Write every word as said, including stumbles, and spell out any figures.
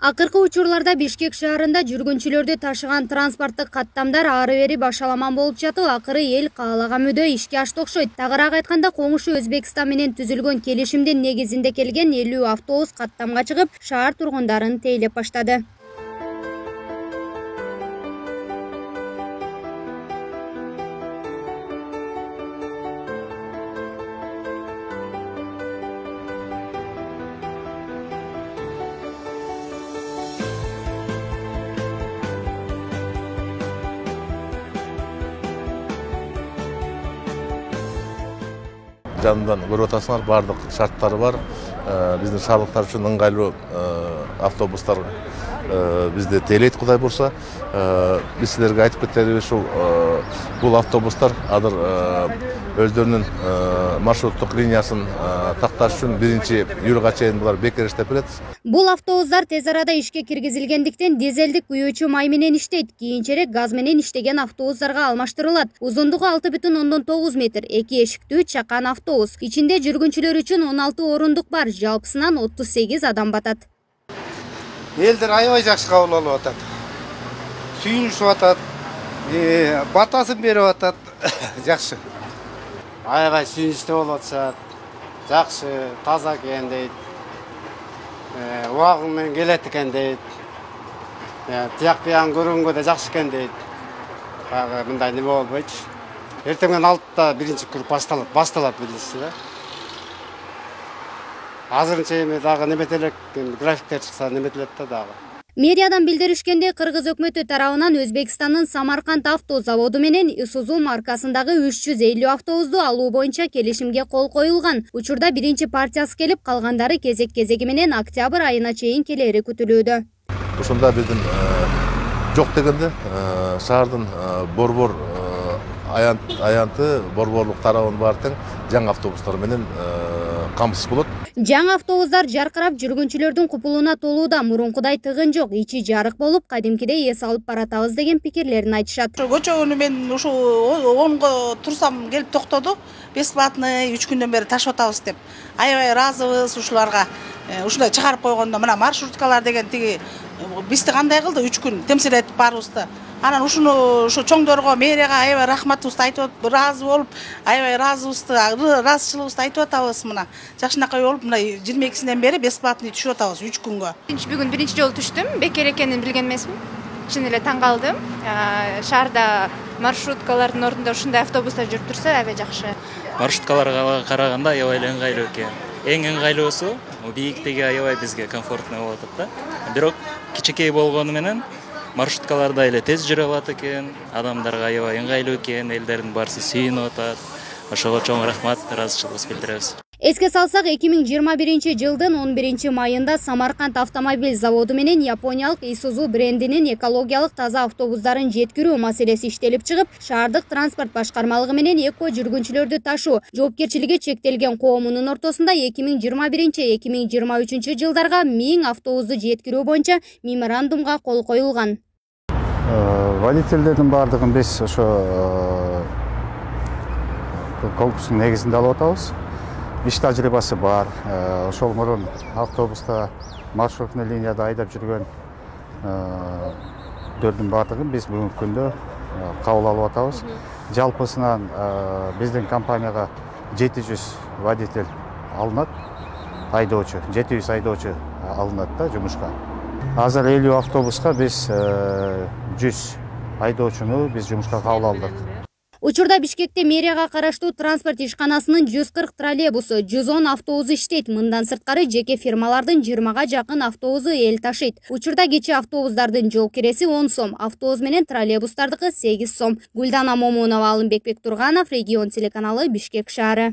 Акыркы учурларда Бишкек шаарында жүргүнчүлөрдү ташыган транспорттук каттамдар ары бери башаламан болуп жатып, акыры эл каалаган мөдө ишке ашты окшойт. Тагыраак айтканда, коңшу Өзбекстан менен түзүлгөн келишимдин негизинде келген элүү автобус каттамга чыгып, шаар тургундарын тейлеп баштады. Жанынан көрүп атасыңар, бардык шарттары бар. Биздин шаардыктар үчүн ыңгайлуу автобустар бизде тейлейт, Кудай бурса. Биз силерге айтып кетербиз, ушул бул автобустар азыр өздөрүнүн маршруттук линиясын такташ үчүн биринчи июлга чейин булар бекер иштеп берет. Бул автобустар тез арада ишке киргизилгендиктен дизелдик күйүүчү май менен иштейт. Кийинчерээк газ менен иштеген автобустарга алмаштырылат. Узундугу алты бүтүн ондон тогуз метр, эки эшиктүү чакан автобус. Ичинде жүргүнчүлөр үчүн он алты орундук бар, жалпысынан отуз сегиз адам батат. Элдер аябай жакшы кабыл алып атат. Сүйүнүшүп атат, батасын берип атат. Жакшы. Аябай сүйүнүчтүү болуп атышат. Жакшы, таза экен дейт. Убагы менен келет экен дейт. Тияк биян көргөнгө да жакшы экен дейт. Баягы мындай неме болбойчу. Эртеңден алтыда биринчи круг башталат, башталат билесиз да. Азырынча эми дагы неметелек графиктер чыкса неметилет да дагы. Медиадан билдиришкенде, Кыргыз өкмөтү тарабынан Өзбекстандын Самарканд авто заводу менен Isuzu маркасындагы үч жүз элүү автобусту алуу боюнча келишимге кол коюлган. Учурда биринчи партиясы келип, калгандары кезек-кезеги менен октябрь айына чейин келери күтүлүүдө. Ушунда биздин жок дегенде шаардын борбор аянты, борборлук тарабын баары тең жаңы автобустар менен камсыз болот. Жаңы автобустар жаркырап жүргүнчүлөрдүн купулуна толууда, мурункудай тыгын жок, ичи жарык болуп, кадимкидей эс алып баратабыз деген пикирлерин айтышат. Көчө күнү мен ушу онго турсам келип токтоду. Бесплатный үч күндөн бери ташып атабыз деп. Аябай ыраазыбыз ушуларга. Ушундай чыгарып койгондо мына маршруткалар деген тиги бизди кандай кылды үч күн темсил этип барыбызды. Анан ушуну ушу чоңдорго, мэрияга аябай рахматыбызды айтып, ыраазы болуп, аябай ыраазыбызды, ыраазычылыгыбызды айтып атабыз мына. Жакшынакай болуп, мына жыйырма экисинен бери бесплатный түшүп атабыз үч күнгө. Бүгүн биринчи жолу түштүм, бекер экенин билген эмесмин. Чын эле таң калдым. Шаарда маршруткалардын ордунда ушундай автобустар жүрүп турса, аябай жакшы. Маршруткаларга караганда аябай эле ыңгайлуу экен. Эң ыңгайлуусу бийиктиги аябай бизге комфортный болуп атат да. Бирок кичинекей болгону менен маршруткаларда эле тез жүрө алат экен, адамдарга аябай ыңгайлуу экен, элдердин баарысы сүйүнүп атат. Ошого чоң рахмат, ыраазычылыгыбызды билдиребиз. Эске салсак, эки миң жыйырма биринчи жылдын он биринчи майында Самарканд автомобиль заводу менен япониялык Isuzu брендинин экологиялык таза автобустарын жеткирүү маселеси иштелип чыгып, шаардык транспорт башкармалыгы менен эко жүргүнчүлөрдү ташуу жоопкерчилиги чектелген коомунун ортосунда эки миң жыйырма биринчи — эки миң жыйырма үчүнчү жылдарга миң автобусту жеткирүү боюнча меморандумга кол коюлган. Водительдердин баардыгын биз ошо конкурстун негизинде алып атабыз. Иш тажрыйбасы бар. Ошол мурун автобуста маршрутный линияда айдап жүргөн дөрдүн баардыгын биз бүгүнкү күндө кабыл алып атабыз. Жалпысынан биздин компанияга жети жүз водитель алынат, айдоочу, жети жүз айдоочу алынат да жумушка. Азыр элүү автобуска биз жүз айдоочуну биз жумушка кабыл алдык. Учурда Бишкекте мэрияга караштуу транспорт ишканасынын жүз кырк троллейбусу, жүз он автобусу иштейт. Мындан сырткары жеке фирмалардын жыйырмага жакын автобусу эл ташыйт. Учурда кичи автобустардын жол киреси он сом, автобус менен троллейбустардыкы сегиз сом. Гүлдана Момунова, Алымбек Бектурганов, Регион телеканалы, Бишкек шаары.